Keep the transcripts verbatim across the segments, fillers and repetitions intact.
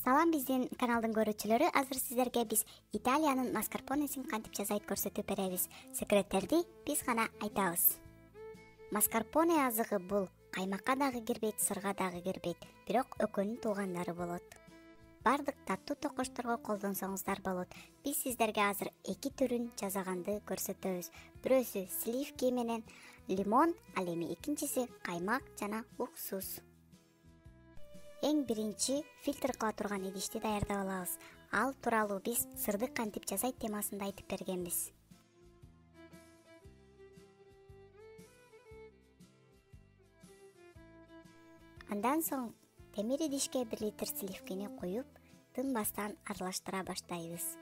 Салам биздин каналдын көрүүчүлөрү, азыр сиздерге биз Италиянын маскарпонесин кантип жасайт көрсөтүп беребиз. Секреттерди биз гана айтабыз. Маскарпоне азыгы бул каймакка дагы кирбейт, сырга дагы кирбейт, бирок экөөнүн туугандары болот. Бардык таттуу токочторго колдонсоңуздар болот. Биз сиздерге азыр эки түрүн жасаганды көрсөтөбүз. Бирөөсү сливки менен лимон, ал эми экинчиси каймак жана уксус. Эң биринчи фильтр кыла турган идишти даярдап алабыз. Ал тууралуу биз сырды кантип жасайт темасында айтып бергенбиз. Андан соң темир идишке бир литр сливкини куюп, тынбастан аралаштыра баштайбыз.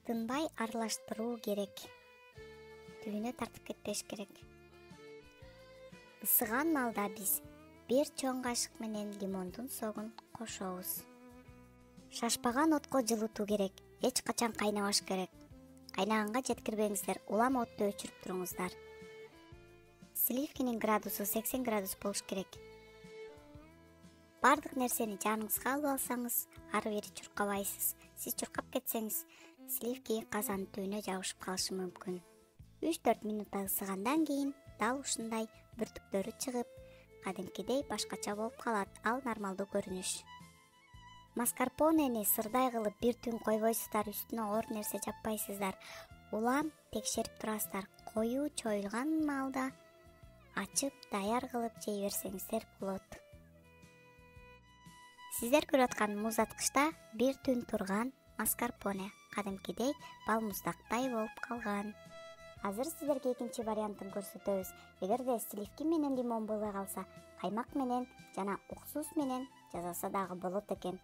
Тынбай аралаштыруу керек. Түбүнө тартып кетпеш керек. Ысыган маалда биз бир чоң кашык менен лимондун согун кошобуз. Шашпаган отко жылытуу керек. Эч качан кайнабаш керек. Кайнаганга жеткирбеңиздер, улам отту өчүрүп туруңуздар. Сливкинин градусу сексен градус болуш керек. Бардык нерсени жаныңызга алып алсаңыз, ары бери чуркабайсыз. Сиз чуркап кетсеңиз, сливки казандын түбүнө жабышып калышы мүмкүн. үч төрт минутта ысыгандан кийин дал ушундай бүртүктөрү чыгып, кадимкидей башкача болуп калат. Ал нормалдуу көрүнүш. Маскарпонени сырдай кылып бир түн койбойсуздар, үстүнө оор нерсе жаппайсыздар. Улам текшерип турасыздар. Коюу чоюлган маалда ачып, даяр кылып жей берсеңиздер болот. Сиздер көрүп аткан муздаткычта бир түн турган маскарпоне кадимкидей балмуздактай болуп калган. Азыр сиздерге экинчи вариантын көрсөтөбүз. Эгерде сливки менен лимон болбой калса, каймак менен жана уксус менен жасаса дагы болот экен.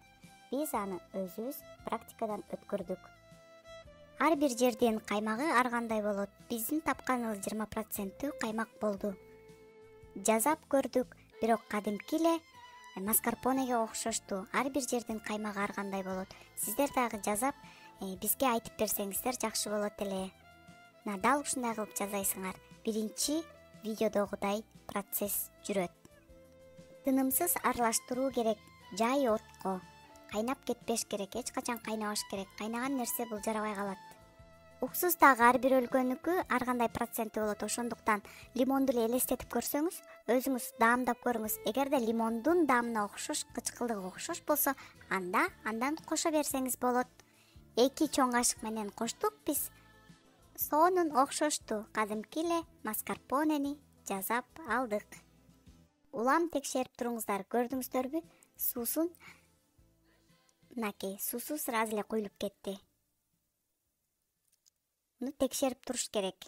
Биз аны өзүбүз практикадан өткөрдүк. Ар бир жердин каймагы ар кандай болот. Биздин тапканыбыз жыйырма проценттүү каймак болду. Жасап көрдүк, бирок кадимки эле маскарпонеге окшошту. Ар бир жердин каймагы ар кандай болот. Сиздер дагы жасап бизге айтып берсеңиздер жакшы болот эле. На дал ушундай кылып жасайсыңар. Биринчи видеодогудай процесс жүрөт. Тынымсыз аралаштыруу керек, жай отко. Кайнап кетпеш керек, эч качан кайнабаш керек. Кайнаган нерсе бул жарабай калат. Уксус дагы ар бир өлкөнүкү ар кандай проценти болот. Ошондуктан лимонду эле элестетип көрсөңүз, өзүңүз даамдап көрүңүз. Эгерде лимондун даамына окшош, кычкылдыгы окшош болсо, анда андан кошо берсеңиз болот. Эки чоң кашык менен коштук биз. Сонун окшошту. Кадимки эле маскарпонени жасап алдык. Улам текшерип туруңуздар. Көрдүңүздөрбү? Суусун мынакей, суусу сразу эле куюлуп кетти. Муну текшерип туруш керек.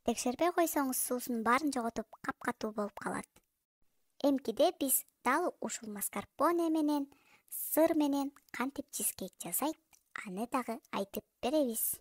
Текшербей койсоңуз, суусунун баарын жоготуп, капкатуу болуп калат. Эмкиде биз дал ушул маскарпоне менен, сыр менен кантип чизкейк жасайт, аны дагы айтып беребиз.